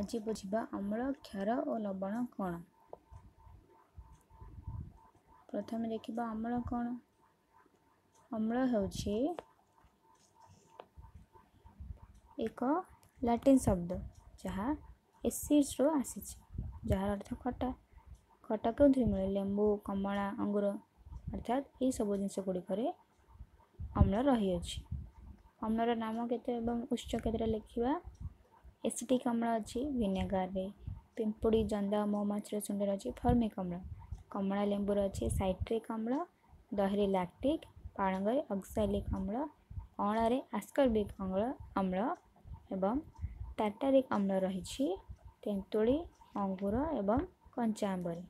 ଆଜି ବୁଝିବା ଅମ୍ଳ, କ୍ଷାର ଓ ଲବଣ କ'ଣ। ପ୍ରଥମେ ଦେଖିବା ଅମ୍ଳ କ'ଣ। ଅମ୍ଳ ହେଉଛି ଏକ ଲାଟିନ୍ ଶବ୍ଦ ଯାହା ଏସିଡ୍ସରୁ ଆସିଛି, ଯାହାର ଅର୍ଥ ଖଟା। ଖଟା କେଉଁଥିରେ ମିଳେ? ଲେମ୍ବୁ, କମଳା, ଅଙ୍ଗୁର, ଅର୍ଥାତ୍ ଏହିସବୁ ଜିନିଷ ଗୁଡ଼ିକରେ ଅମ୍ଳ ରହିଅଛି। ଅମ୍ଳର ନାମ କେତେ ଏବଂ ଉତ୍ସ କେତେଟା ଲେଖିବା। ଏସିଟିକ୍ ଅମ୍ଳ ଅଛି ଭିନେଗାରରେ, ପିମ୍ପୁଡ଼ି, ଜନ୍ଦା, ମହୁମାଛିର ଶୁଣ୍ଢରେ ଅଛି ଫର୍ମିକ୍ ଅମ୍ଳ, କମଳା ଲେମ୍ବୁରେ ଅଛି ସାଇଟ୍ରିକ୍ ଅମ୍ଳ, ଦହିରେ ଲାକ୍ଟିକ୍, ପାଳଙ୍ଗରେ ଅକ୍ସାଲିକ୍ ଅମ୍ଳ, ଅଁଳାରେ ଆସ୍କର୍ବିକ୍ ଅମ୍ଳ ଏବଂ ଟାର୍ଟାରିକ୍ ଅମ୍ଳ ରହିଛି ତେନ୍ତୁଳି, ଅଙ୍ଗୁର ଏବଂ କଞ୍ଚା ଆମ୍ବରେ।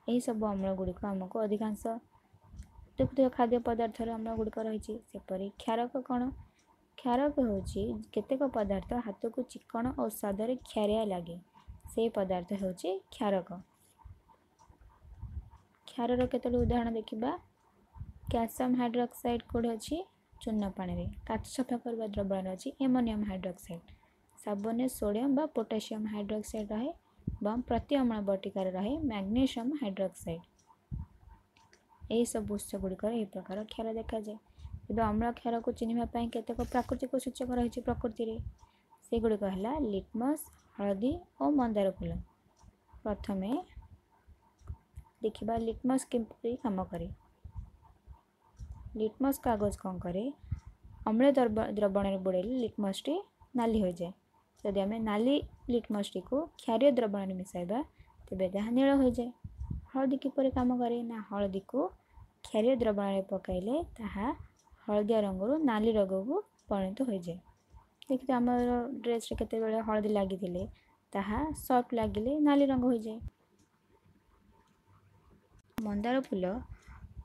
ଏହିସବୁ ଅମ୍ଳ ଗୁଡ଼ିକ ଆମକୁ ଅଧିକାଂଶ ଦେଖୁଥିବା ଖାଦ୍ୟ ପଦାର୍ଥରେ ଅମ୍ଳ ଗୁଡ଼ିକ ରହିଛି। ସେପରି କ୍ଷାରକ କ'ଣ? କ୍ଷାରକ ହେଉଛି କେତେକ ପଦାର୍ଥ ହାତକୁ ଚିକ୍କଣ ଓ ସ୍ୱାଦରେ କ୍ଷାରିଆ ଲାଗେ, ସେହି ପଦାର୍ଥ ହେଉଛି କ୍ଷାରକ। କ୍ଷାରର କେତୋଟି ଉଦାହରଣ ଦେଖିବା। କ୍ୟାଲସିୟମ୍ ହାଇଡ୍ରୋକ୍ସାଇଡ୍ କେଉଁଠି ଅଛି? ଚୂନ ପାଣିରେ। କାଚ ସଫା କରିବା ଦ୍ରବଣରେ ଅଛି ଏମୋନିୟମ୍ ହାଇଡ୍ରୋକ୍ସାଇଡ୍। ସାବୁନରେ ସୋଡ଼ିୟମ୍ ବା ପୋଟାସିୟମ୍ ହାଇଡ୍ରୋକ୍ସାଇଡ୍ ରହେ ଏବଂ ପ୍ରତି ଅମ୍ଳ ବଟିକାରେ ରହେ ମ୍ୟାଗ୍ନେସିୟମ୍ ହାଇଡ୍ରୋକ୍ସାଇଡ୍। ଏହିସବୁ ଉତ୍ସ ଗୁଡ଼ିକରେ ଏହି ପ୍ରକାର କ୍ଷାର ଦେଖାଯାଏ। ଏବେ ଅମ୍ଳ କ୍ଷାରକୁ ଚିହ୍ନିବା ପାଇଁ କେତେକ ପ୍ରାକୃତିକ ସୂଚକ ରହିଛି ପ୍ରକୃତିରେ। ସେଗୁଡ଼ିକ ହେଲା ଲିଟମସ୍, ହଳଦୀ ଓ ମନ୍ଦାର ଫୁଲ। ପ୍ରଥମେ ଦେଖିବା ଲିଟମସ୍ କିପରି କାମ କରେ। ଲିଟମସ୍ କାଗଜ କ'ଣ କରେ? ଅମ୍ଳ ଦ୍ରବଣରେ ବୁଡ଼େଇଲେ ଲିଟମସ୍ଟି ନାଲି ହୋଇଯାଏ। ଯଦି ଆମେ ନାଲି ଲିଟମସ୍ଟିକୁ କ୍ଷାରୀୟ ଦ୍ରବଣରେ ମିଶାଇବା ତେବେ ତାହା ନୀଳ ହୋଇଯାଏ। ହଳଦୀ କିପରି କାମ କରେ ନା, ହଳଦୀକୁ କ୍ଷାରୀୟ ଦ୍ରବଣରେ ପକାଇଲେ ତାହା ହଳଦିଆ ରଙ୍ଗରୁ ନାଲି ରଙ୍ଗକୁ ପରିଣତ ହୋଇଯାଏ। ଦେଖିଥିବେ ଆମର ଡ୍ରେସ୍ରେ କେତେବେଳେ ହଳଦୀ ଲାଗିଥିଲେ ତାହା ସର୍ଫ ଲାଗିଲେ ନାଲି ରଙ୍ଗ ହୋଇଯାଏ। ମନ୍ଦାର ଫୁଲ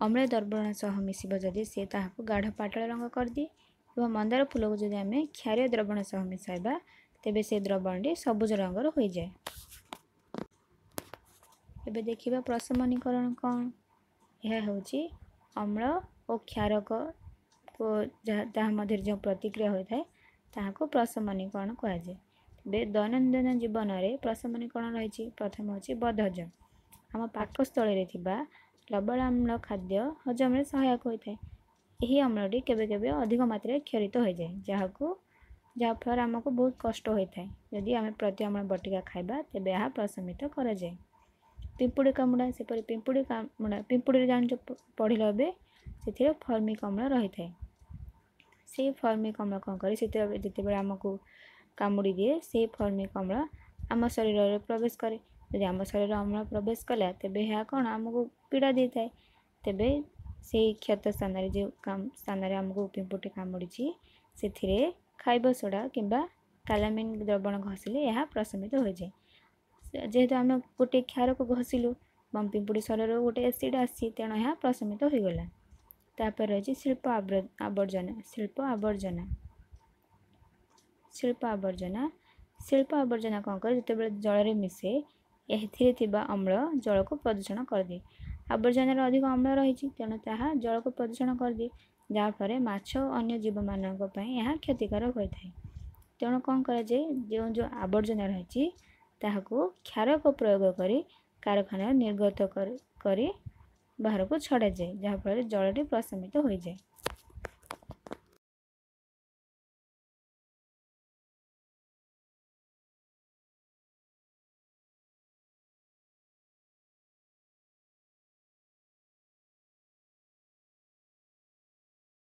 ଅମ୍ଳ ଦ୍ରବଣ ସହ ମିଶିବ ଯଦି ସେ ତାହାକୁ ଗାଢ଼ ପାଟଳ ରଙ୍ଗ କରିଦିଏ ଏବଂ ମନ୍ଦାର ଫୁଲକୁ ଯଦି ଆମେ କ୍ଷାରୀୟ ଦ୍ରବଣ ସହ ମିଶାଇବା ତେବେ ସେ ଦ୍ରବଣଟି ସବୁଜ ରଙ୍ଗର ହୋଇଯାଏ। ଏବେ ଦେଖିବା ପ୍ରଶମନୀକରଣ କ'ଣ। ଏହା ହେଉଛି ଅମ୍ଳ ଓ କ୍ଷାରକ ଯାହା ତାହା ମଧ୍ୟରେ ଯେଉଁ ପ୍ରତିକ୍ରିୟା ହୋଇଥାଏ ତାହାକୁ ପ୍ରଶମନୀକରଣ କୁହାଯାଏ। ତେବେ ଦୈନନ୍ଦିନ ଜୀବନରେ ପ୍ରଶମନୀକରଣ ରହିଛି। ପ୍ରଥମ ହେଉଛି ବଦହଜମ। ଆମ ପାକସ୍ଥଳୀରେ ଥିବା ଲବଣାମ୍ଳ ଖାଦ୍ୟ ହଜମରେ ସହାୟକ ହୋଇଥାଏ। ଏହି ଅମ୍ଳଟି କେବେ କେବେ ଅଧିକ ମାତ୍ରାରେ କ୍ଷରିତ ହୋଇଯାଏ, ଯାହାଫଳରେ ଆମକୁ ବହୁତ କଷ୍ଟ ହୋଇଥାଏ। ଯଦି ଆମେ ପ୍ରତି ଅମ୍ଳ ବଟିକା ଖାଇବା ତେବେ ଏହା ପ୍ରଶମିତ କରାଯାଏ। ପିମ୍ପୁଡ଼ି କାମୁଡ଼ା, ସେପରି ପିମ୍ପୁଡ଼ି କାମୁଡ଼ା, ପିମ୍ପୁଡ଼ିରେ ଜାଣିଛ ପଢ଼ିଲ ଏବେ, ସେଥିରେ ଫର୍ମିକ୍ ଅମ୍ଳ ରହିଥାଏ। ସେଇ ଫର୍ମିକ୍ ଅମ୍ଳ କ'ଣ କରେ, ସେଥିରେ ଯେତେବେଳେ ଆମକୁ କାମୁଡ଼ି ଦିଏ ସେଇ ଫର୍ମିକ୍ ଅମ୍ଳ ଆମ ଶରୀରରେ ପ୍ରବେଶ କରେ। ଯଦି ଆମ ଶରୀରରେ ଅମ୍ଳ ପ୍ରବେଶ କଲା ତେବେ ଏହା କ'ଣ ଆମକୁ ପୀଡ଼ା ଦେଇଥାଏ। ତେବେ ସେଇ କ୍ଷତ ସ୍ଥାନରେ ଯେଉଁ ସ୍ଥାନରେ ଆମକୁ ପିମ୍ପୁଡ଼ି କାମୁଡ଼ିଛି ସେଥିରେ ଖାଇବା ସୋଡ଼ା କିମ୍ବା କାଲାମିନ୍ ଦ୍ରବଣ ଘଷିଲେ ଏହା ପ୍ରଶମିତ ହୋଇଯାଏ। ଯେହେତୁ ଆମେ ଗୋଟିଏ କ୍ଷାରକୁ ଘଷିଲୁ ଏବଂ ପିମ୍ପୁଡ଼ି ଶରୀରରୁ ଗୋଟେ ଏସିଡ଼୍ ଆସିଛି, ତେଣୁ ଏହା ପ୍ରଶମିତ ହୋଇଗଲା। ତାପରେ ରହିଛି ଶିଳ୍ପ ଆବର୍ଜନା। ଶିଳ୍ପ ଆବର୍ଜନା, ଶିଳ୍ପ ଆବର୍ଜନା, ଶିଳ୍ପ ଆବର୍ଜନା କ'ଣ କରେ, ଯେତେବେଳେ ଜଳରେ ମିଶେ ଏଥିରେ ଥିବା ଅମ୍ଳ ଜଳକୁ ପ୍ରଦୂଷଣ କରିଦିଏ। ଆବର୍ଜନାରେ ଅଧିକ ଅମ୍ଳ ରହିଛି ତେଣୁ ତାହା ଜଳକୁ ପ୍ରଦୂଷଣ କରିଦିଏ, ଯାହାଫଳରେ ମାଛ ଓ ଅନ୍ୟ ଜୀବମାନଙ୍କ ପାଇଁ ଏହା କ୍ଷତିକାରକ ହୋଇଥାଏ। ତେଣୁ କ'ଣ କରାଯାଏ, ଯେଉଁ ଯେଉଁ ଆବର୍ଜନା ରହିଛି ତାହାକୁ କ୍ଷାରକ ପ୍ରୟୋଗ କରି କାରଖାନାରେ ନିର୍ଗତ କରି ବାହାରକୁ ଛଡ଼ାଯାଏ, ଯାହାଫଳରେ ଜଳଟି ପ୍ରଶମିତ ହୋଇଯାଏ।